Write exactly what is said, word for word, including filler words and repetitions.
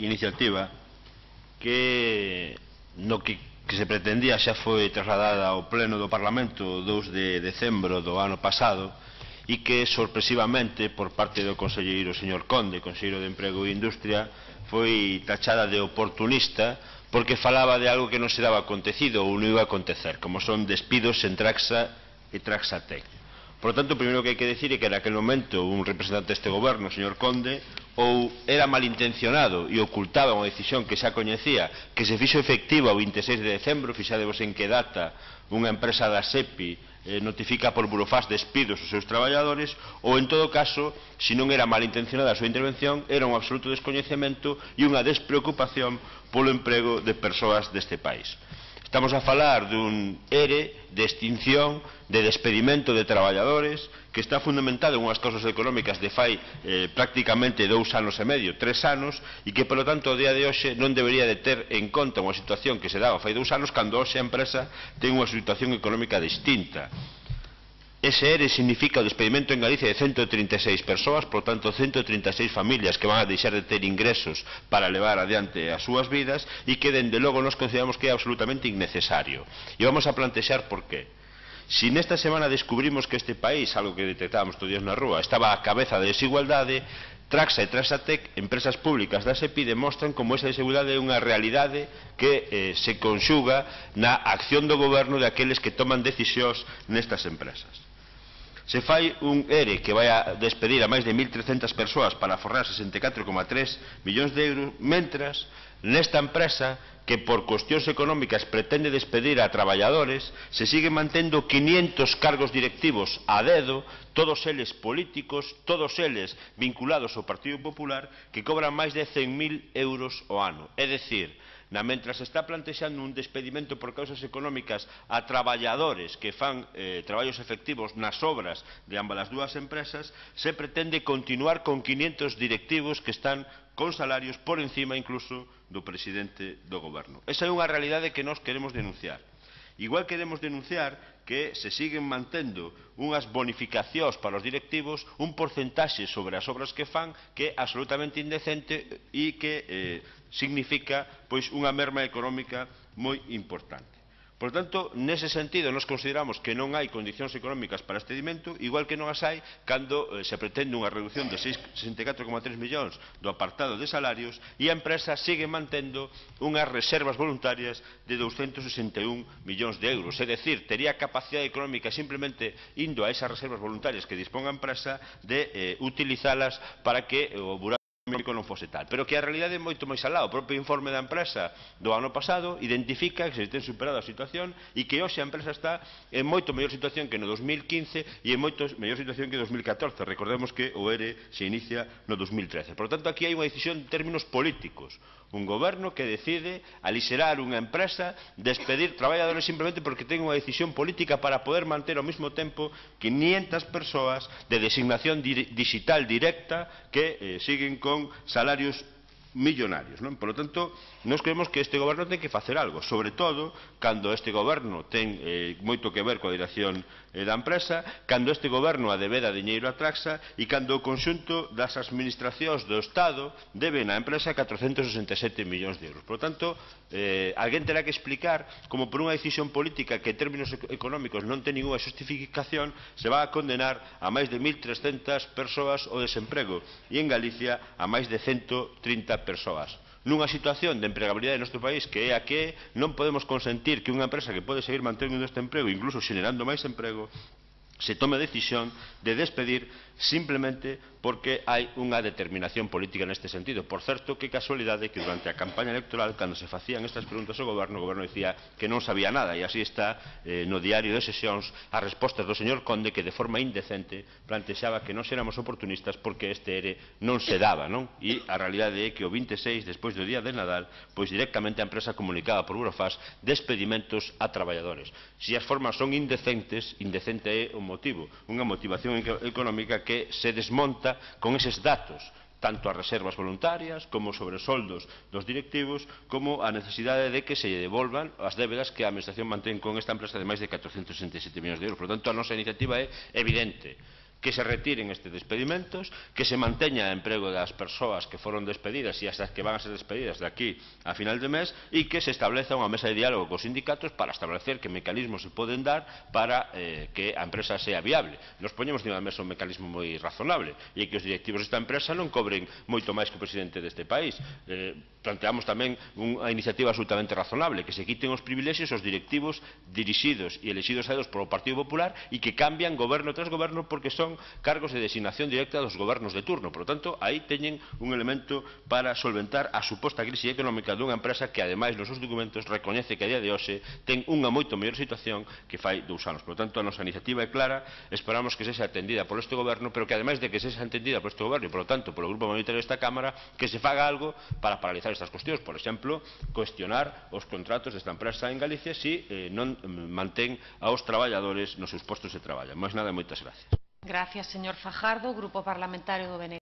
iniciativa que no que, que se pretendía xa foi trasladada ao pleno do Parlamento o dous de decembro do ano pasado e que sorpresivamente por parte do conselleiro señor Conde, conselleiro de Emprego e Industria, foi tachada de oportunista porque falaba de algo que non se daba acontecido ou non iba a acontecer, como son despidos en Traxa e Traxatec. Por lo tanto, o primeiro que hai que decir é que naquele momento un representante deste goberno, o señor Conde, ou era malintencionado e ocultaba unha decisión que xa coñecía, que se fixo efectiva o vinte e seis de decembro, fixadevos en que data unha empresa da SEPI eh, notifica por burofax despidos aos seus traballadores, ou en todo caso, se non era malintencionada a súa intervención, era un absoluto descoñecemento e unha despreocupación polo emprego de persoas deste país. Estamos a falar dun ERE de extinción, de despedimento de traballadores, que está fundamentado en unhas causas económicas de fai eh, prácticamente dous anos e medio, tres anos, e que, polo tanto, o día de hoxe non debería de ter en conta unha situación que se daba fai dous anos, cando hoxe a empresa ten unha situación económica distinta. Ese ERE significa o despedimento en Galicia de ciento trinta e seis persoas, por tanto, ciento trinta e seis familias que van a deixar de ter ingresos para levar adiante as súas vidas e que, dende logo, nos consideramos que é absolutamente innecesario. E vamos a plantexar por qué. Si nesta semana descubrimos que este país, algo que detectábamos todos os días na rúa, estaba á cabeza da desigualdade, Traxa e Traxatec, empresas públicas da SEPI, demostran como esa desigualdade é unha realidade que eh, se conxuga na acción do goberno de aqueles que toman decisións nestas empresas. Se fai un ERE que vai a despedir a máis de mil trescentas persoas para aforrar sesenta e catro coma tres millóns de euros, mentras nesta empresa que por cuestións económicas pretende despedir a traballadores, se siguen mantendo quinientos cargos directivos a dedo, todos eles políticos, todos eles vinculados ao Partido Popular, que cobran máis de cen mil euros ao ano. É dicir, na mentras se está plantexando un despedimento por causas económicas a traballadores que fan eh, traballos efectivos nas obras de ambas as dúas empresas, se pretende continuar con quinientos directivos que están con salarios por encima incluso do presidente do goberno. Esa é unha realidade que nós queremos denunciar. Igual queremos denunciar que se siguen mantendo unhas bonificacións para os directivos, un porcentaxe sobre as obras que fan que é absolutamente indecente e que eh, significa pois unha merma económica moi importante. Por tanto, nese sentido, nos consideramos que non hai condicións económicas para este despedimento, igual que non as hai cando eh, se pretende unha reducción de sesenta e catro coma tres millóns do apartado de salarios e a empresa sigue mantendo unhas reservas voluntarias de douscentos sesenta e un millóns de euros. É dicir, tería capacidade económica simplemente indo a esas reservas voluntarias que dispón a empresa de eh, utilizalas para que o buraco económico non fose tal, pero que a realidade é moito máis alá. O propio informe da empresa do ano pasado identifica que se ten superado a situación e que hoxe a empresa está en moito mellor situación que no dos mil quince e en moito mellor situación que no dos mil catorce. Recordemos que o ERE se inicia no dos mil trece. Por lo tanto, aquí hai unha decisión en términos políticos. Un goberno que decide aliserar unha empresa, despedir traballadores simplemente porque ten unha decisión política para poder manter ao mesmo tempo quinientas persoas de designación digital directa que eh, siguen con salarios millonarios, non? Por lo tanto, nós creemos que este goberno ten que facer algo, sobre todo cando este goberno ten eh, moito que ver coa dirección eh, da empresa, cando este goberno adebeda diñeiro a Traxa e cando o conxunto das administracións do Estado deben á empresa catrocentos sesenta e sete millóns de euros. Por lo tanto, eh, alguén terá que explicar como por unha decisión política que en términos económicos non ten ninguna justificación se va a condenar a máis de mil trescentas persoas ao desemprego e en Galicia a máis de ciento trinta persoas. Nunha situación de empregabilidade no noso país que é a que non podemos consentir que unha empresa que pode seguir mantendo este emprego, incluso xenerando máis emprego, se tome a decisión de despedir simplemente porque hai unha determinación política neste sentido. Por certo, que casualidade que durante a campaña electoral, cando se facían estas preguntas ao goberno, o goberno dicía que non sabía nada, e así está eh, no diario de sesións as respostas do señor Conde, que de forma indecente plantexaba que non éramos oportunistas porque este ERE non se daba, non? E a realidade é que o vinte e seis, despois do día de Nadal, pois directamente a empresa comunicaba por burofax despedimentos a traballadores. Se as formas son indecentes, indecente é o motivo, unha motivación económica que se desmonta con eses datos, tanto as reservas voluntarias como sobre os soldos dos directivos, como a necesidade de que se devolvan as débedas que a administración mantén con esta empresa de máis de catrocentos sesenta e sete millóns de euros. Por tanto, a nosa iniciativa é evidente. que se retiren estes despedimentos, que se manteña o emprego das persoas que foron despedidas e as que van a ser despedidas de aquí a final de mes e que se estableza unha mesa de diálogo cos sindicatos para establecer que mecanismos se poden dar para eh, que a empresa sea viable. Nos poñemos encima da mesa un mecanismo moi razonable e que os directivos desta empresa non cobren moito máis que o presidente deste país. Eh, planteamos tamén unha iniciativa absolutamente razonable, que se quiten os privilexios aos directivos dirixidos e elexidos a dedos polo Partido Popular e que cambian goberno tras goberno porque son cargos de designación directa dos gobernos de turno. Por lo tanto, aí teñen un elemento para solventar a suposta crise económica dunha empresa que, ademais, nos seus documentos recoñece que a día de hoxe ten unha moito mellor situación que fai dous anos. Por lo tanto, a nosa iniciativa é clara, esperamos que sexa atendida por este goberno, pero que, ademais de que sexa atendida por este goberno e, por lo tanto, polo grupo mayoritario desta Cámara, que se faga algo para paralizar estas cuestións. Por exemplo, cuestionar os contratos desta empresa en Galicia se eh, non mantén aos traballadores nos seus postos de traballo. Máis nada, moitas gracias. Gracias, señor Fajardo. Grupo Parlamentario do B N G.